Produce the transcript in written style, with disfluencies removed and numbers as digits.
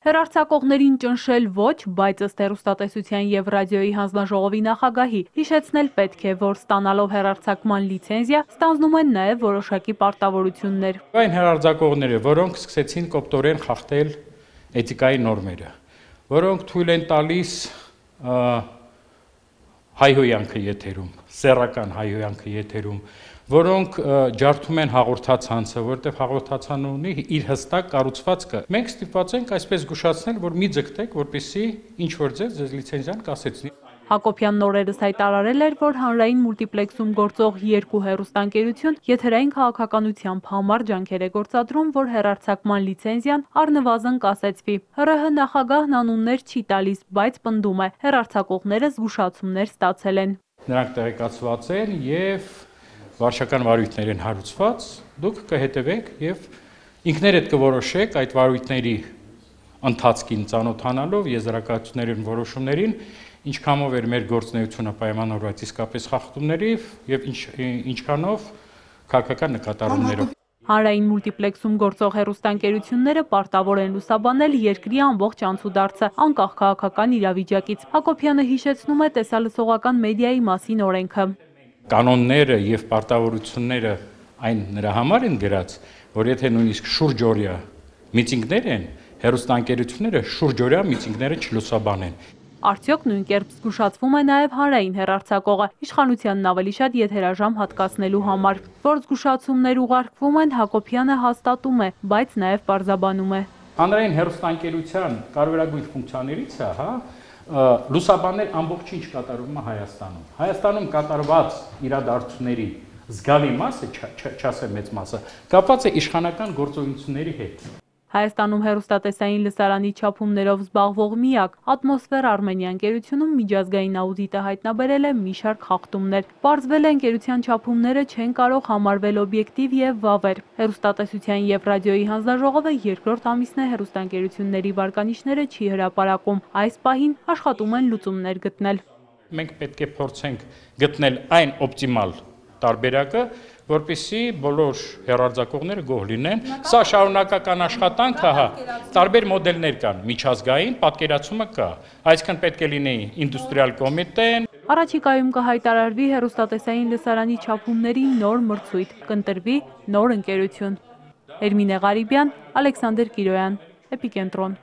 Հեռարձակողներին ճնշել ոչ, բայց ըստ հեռուստատեսության և ռադիոյի հանձնաժողովի նախագահի հիշեցնել պետք է, որ ստանալով հեռարձակման լիցենզիա ստանձնում են նաև որոշակի պարտավորություններ։ Այն հեռարձակողները, որոնք սկսեցին կոպտորեն խախտել էթիկայի նորմերը, որոնք թույլ են տալիս հայհոյանքը եթերում, սեռական հայհոյանքը եթերում, որոնք ջարդում են հաղորդացանցը, որտեղ հաղորդացանը ունի իր հստակ կառուցվածքը։ Մենք ստիպված ենք այսպես զգուշացնել, որ մի ձգտեք, որպեսզի ինչ որ ձեզ լիցենզիան կասեցնի։ Հակոբյանն օրերս հայտարարել էր, որ հանրային մուլտիպլեքսում գործող երկու հեռուստաընկերություն եթերային քաղաքականությամբ համառ ջանքեր է գործադրում, որ հեռարձակման լիցենզիան առնվազն կասեցվի։ ՀՌՀ նախագահն անուններ չի տալիս, բայց պնդում է, հեռարձակողները զգուշացումներ ստացել են։ Նրանք տեղեկացված են և վարչական վարույթներ են հարուցված, դուք կհետևեք և ինքներդ կորոշեք այդ վարույթների ընթացքին ծանոթանալով եզրակացություններին որոշումներին, ինչքանով էր մեր գործունեությունը պայմանավորված իսկապես խախտումների և ինչքանով քաղաքական նկատառումներով։ Հանրային մուլտիպլեքսում գործող հեռուստաընկերությունները պարտավոր են լուսաբանել երկրի ամբողջ անցուդարձը, անկախ քաղաքական իրավիճակից։ Հակոբյանը հիշեցնում է տեսալսողական մեդիայի մասին օրենքը։ Կանոնները և պարտավորությունները այն նրա համար են գրած, որ եթե նույնիսկ շուրջօրյա միտինգներ են, հեռուստաընկերությունները շուրջօրյա միտինգները չլուսաբանեն։ Արդյոք նույն կերպ զգուշացվում է նաև հանրային հեռարձակողը, իշխանությանն ավելի շատ եթերաժամ հատկացնելու համար։ Որ զգուշացումներ ուղարկվում են, Հակոբյանը հաստատում է, բայց նաև պարզաբանում է։ Հանրային հեռուստաընկերության կարևորագույն ֆունկցիաներից է, լուսաբանել ամբողջ ինչ կատարվում է Հայաստանում։ Հայաստանում կատարված իրադարձությունների զգալի մասը, չասեմ մեծ մասը, կապված է իշխանական գործողությունների հետ։ Հայաստանում հեռուստատեսային լսարանի չափումներով զբաղվող միակ Ատմոսֆեր Արմենիա ընկերությունում միջազգային աուդիտը հայտնաբերել է մի շարք խախտումներ։ Պարզվել է, ընկերության չափումները չեն կարող համարվել օբյեկտիվ և վավեր։ Հեռուստատեսության և ռադիոյի հանձնաժողովը երկրորդ ամիսն է հեռուստաընկերությունների վարկանիշները չի հրապարակում։ Այս պահին աշխատում են լուծումներ գտնել։ Մենք պետք է փորձենք գտնել այն օպտիմալ տարբերակը, որպեսզի բոլոր հեռարձակողները գոհ լինեն։ Սա շարունակական աշխատանք է, տարբեր մոդելներ կան, միջազգային պատկերացումը կա, այսինքն պետք է լինի ինդուստրիալ կոմիտեն։ Առաջիկայում կհայտարարվի հեռուստատեսային լսարանի չափումների նոր մրցույթ, կընտրվի նոր ընկերություն։ Էրմինե Ղարիբյան, Ալեքսանդր Կիրոյան, Էպիկենտրոն։